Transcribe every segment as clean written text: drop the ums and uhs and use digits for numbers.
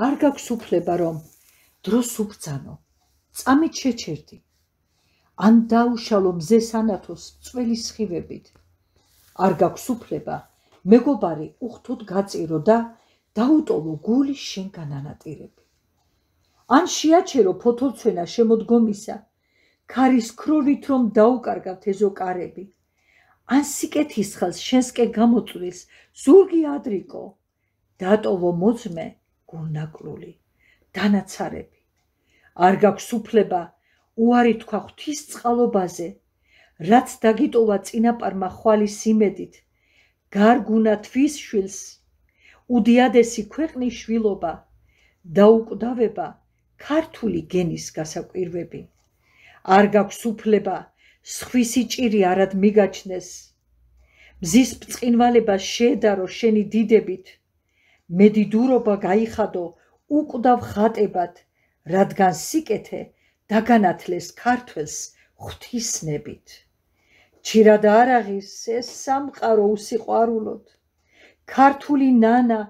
არ გაქვს უფლება რომ დროს ubრძანო, წამით შეჩერდი, ან დაუშალო მზეს ანათოს წველი სხივებით. არ გაქვს უფლება მეგობარი უხთოდ გაწირო და დაუტოვო გული შენგან ანატირები. ან შეაჩერო ფოთოლცვენა შემოდგომისა, ქარის ქროლით რომ დაუკარგავთ ეზო კარები. ან სიკეთის ხელს შენსკენ გამოწვლის ზურგი ადრიკო, დატოვო მოძმე გულნაკლული, დანაცარები. არ გაქვს უფლება უარი თქვა ღვთის წყალობაზე, რაც დაგიტოვა წინაპარმა ხვალის იმედით, გარგუნა თვის შვილს, უდიადესი ქვეყნის შვილობა, დაუკვდავება ქართული გენის გასაკვირვები. არ გაქვს უფლება სხვისი ჭირი არად მიგაჩნდეს, მზის ბრწყინვალება შეედარო შენი დიდებით, მედიდურობა გაიხადო უკვდავ ხატებად, რადგან სიკეთე დაგანათლეს ქართველს ღვთისნებით. ჩირად არაღის ეს სამყარო უსიყვარულოდ, ქართული ნანა,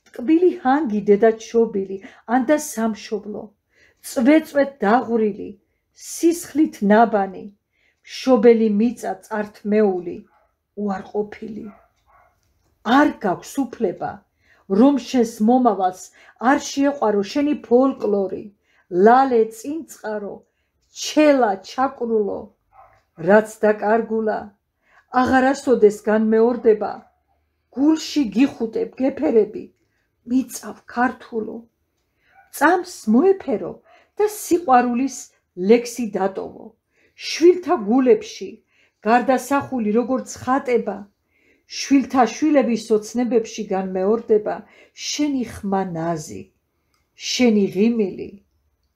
ტკბილი ჰანგი დედაჩობილი, ანდა სამშობლო, წვეწვეთ დაღვრილი, სისხლით ნაბანი, მშობელი მიწა წართმეული, უარყოფილი. არ გაქვს უფლება რომ შენს მომავალს არ შეეყვარო შენი ფოლკლორი, ლალე წინწყარო, ჩელა ჩაკრულო, რაც დაკარგულა აღარასოდეს განმეორდება, გულში გიხუტებ გეფერები, მიწავ ქართულო. წამს მოეფერო და სიყვარულის ლექსი დატოვო, შვილთა გულებში გარდასახული როგორც ხატება, შვილთა შვილების ოცნებებში განმეორდება შენი ხმა ნაზი, შენი ღიმილი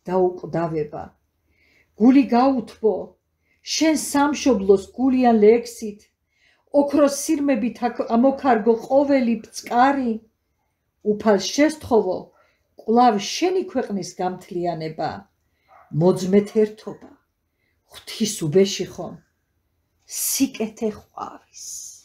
დაუკვდავება. გული გაუთბო შენ სამშობლოს გულიან ლექსით, ოქროს სირმებით ამოქარგო ყოველი ბწყარი, უფალს შესთხოვო კვლავ შენი ქვეყნის გამთლიანება, მოძმეთ ერთობა, ღვთის უბეში ხომ სიკეთე ყვავის.